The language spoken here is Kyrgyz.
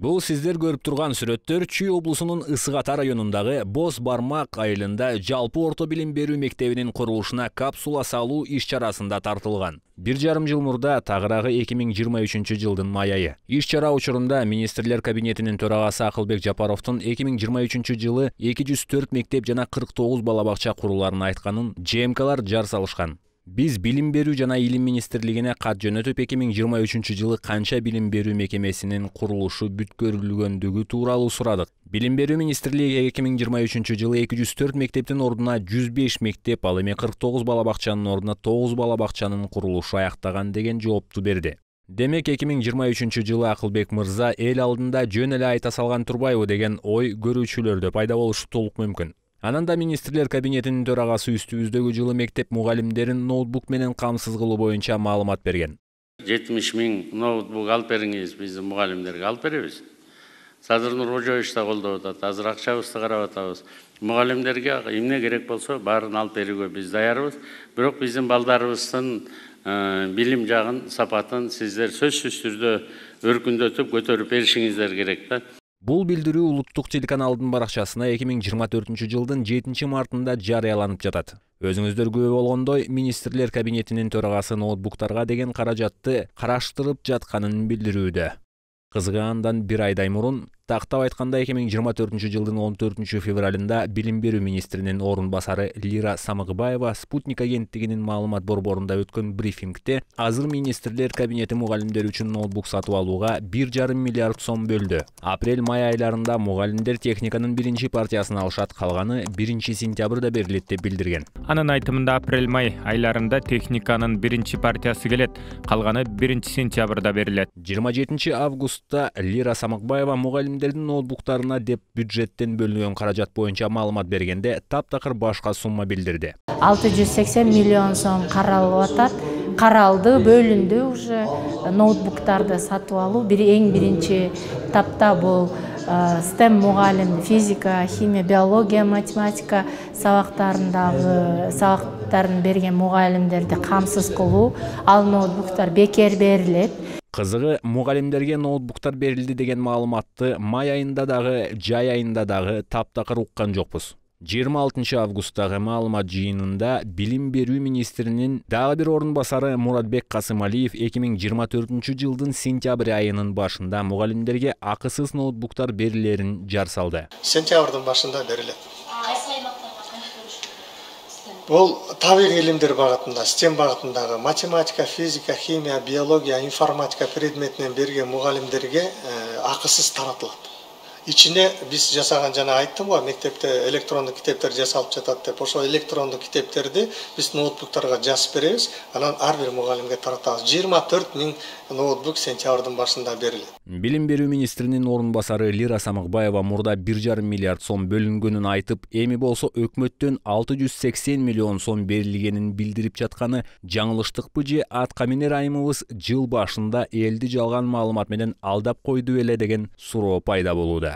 Бул сиздер көрүп турган сүрөттөр Чүй облусунун Ысык Ата районундагы Боз Бармак айылында жалпы орто билим берүү мектебинин курулушуна капсула салуу иш-чарасында тартылган. 1,5 жыл мурда, тагыраагы 2023 жылдын май айы. Иш-чара учурунда Министрлер кабинетинин төрагасы Акылбек Жапаровдун 2023 жылы 204 мектеп жана 49 бала бакча куруларын айтканын ЖМКлар жар салышкан. Биз Билим берүү жана Илим министрлигине кат жөнөтүп 2023 жылы канча билим берүү мекемесинин курулушу бүткөрүлгөндүгү тууралуу сурадык. Билим берүү министрлиги 2023 жылы 204 мектептин ордуна 105 мектеп, ал эми 49 бала бакчанын ордуна 9 бала бакчанын курулушу аяктаган деген жоопту берди. Демек 2023 жылы Акылбек мырза эл алдында жөн эле айта салган турбайбы деген ой көрүүчүлөрдө пайда болушу толук мүмкүн. Ананда Министрлер кабинетинин төрагасы үстүбүздөгү жылы мектеп мугалимдерин ноутбук менен камсыз кылуу боюнча маалымат берген. 70 000 ноутбук алып бериңиз, биз мугалимдерге алып беребиз. Садыр Нуркожоевич да колдоп атат, азыр акчабызды карап атабыз. Мугалимдерге эмне керек болсо баарын алып берүүгө биз даярбыз. Бирок биздин балдарыбыздын билим жагын, сапатын сиздер сөзсүз түрдө өркүндөтүп көтөрүп беришиңиздер керек да. Бул билдирүү улуттук телеканалдын баракчасына 2024 жылдын 7 мартында жарыяланып жатат. Өзүңүздөр күбө болгондой, Министрлер кабинетинин төрагасы ноутбуктарга деген каражатты караштырып жатканын билдирүүдө. Кызыгы андан бир айдай мурун, тактап айтканда 2024 жылдын 14 февралында Билим берүү министринин орун басары Лира Самыкбаева Спутник агенттигинин маалымат борборунда өткөн брифингде азыр Министрлер кабинети мугалимдер үчүн ноутбук сатып алууга 1,5 миллиард сом бөлдү. Апрель-май айларында мугалимдер техниканын биринчи партиясын алышат, калганы 1-сентябрда берилет деп билдирген. Анын айтымында апрель-май айларында техниканын биринчи партиясы келет, калганы 1-сентябрда берилет. 27 августта Лира Самыкбаева мугалимдердин ноутбуктарына деп бюджеттен бөлүнгөн каражат боюнча маалымат бергенде таптакыр башка сумма билдирди. 680 миллион сом каралып атат. Каралды, бөлүндү уже. Ноутбуктарды сатып алуу эң биринчи тапта бул STEM мугалим, физика, химия, биология, математика сабактарын берген мугалимдерди камсыз кылуу, ал ноутбуктар бекер берилет. Кызыгы, мугалимдерге ноутбуктар берилди деген маалыматты май айында дагы, жай айында дагы таптакыр уккан жокпуз. 26 августтагы маалымат жыйынында Билим берүү министринин дагы бир орун басары Муратбек Касымалиев 2024 жылдын сентябрь айынын башында мугалимдерге акысыз ноутбуктар берилерин жар салды. Сентябрдын башында берилет. Бул табигый илимдер багытында, STEM багытындагы математика, физика, химия, биология, информатика предметинен берген мугалимдерге акысыз таратылат. Ичине биз жасаган, жана айттым го, мектепте электрондук китептер жасалып жатат деп, ошо электрондук китептерди биз ноутбуктарга жазып беребиз, анан ар бир мугалимге таратабыз. 24 000 ноутбук сентябрдын башында берилет. Билим берүү министринин орун басары Лира Самыкбаева мурда 1,5 миллиард сом бөлүнгөнүн айтып, эми болсо өкмөттөн 680 миллион сом берилгенин билдирип жатканы жаңылыштыкпы же атка минер айымыбыз жыл башында элди жалган маалымат менен алдап койду эле деген суроо пайда болууда.